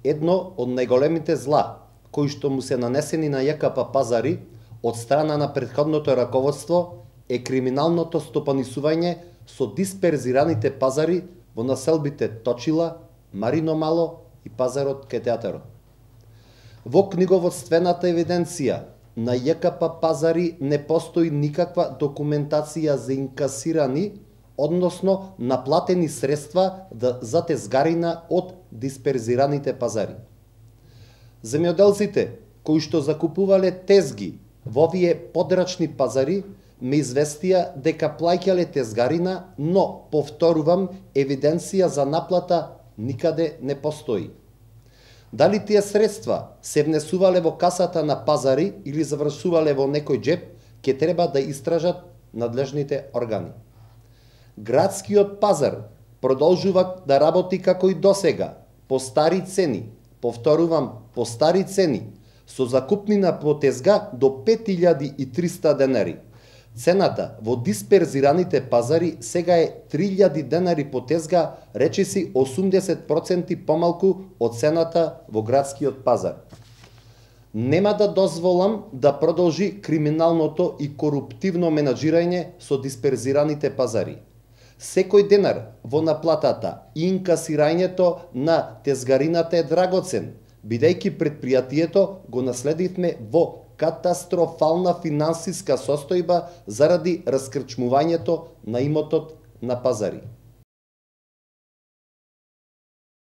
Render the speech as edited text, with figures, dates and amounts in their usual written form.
Едно од најголемите зла кои што му се нанесени на ЈКП Пазари од страна на претходното раководство е криминалното стопанисување со дисперзираните пазари во населбите Точила, Марино Мало и пазарот кај театарот. Во книговодствената евиденција на ЈКП Пазари не постои никаква документација за инкасирани, односно наплатени средства за тезгарина од дисперзираните пазари. Земјоделците кои што закупувале тезги во овие подрачни пазари ме известија дека плаќале тезгарина, но, повторувам, евиденција за наплата никаде не постои. Дали тие средства се внесувале во касата на Пазари или завршувале во некој джеп, ќе треба да истражат надлежните органи. Градскиот пазар продолжува да работи како и досега, по стари цени, повторувам, по стари цени, со закупнина по тезга до 5300 денари. Цената во дисперзираните пазари сега е 3000 денари по тезга, речиси 80% помалку од цената во градскиот пазар. Нема да дозволам да продолжи криминалното и коруптивно менаџирање со дисперзираните пазари. Секој денар во наплатата и инкасирањето на тезгарината е драгоцен, бидејќи предпријатието го наследивме во катастрофална финансиска состојба заради раскрчмувањето на имотот на Пазари.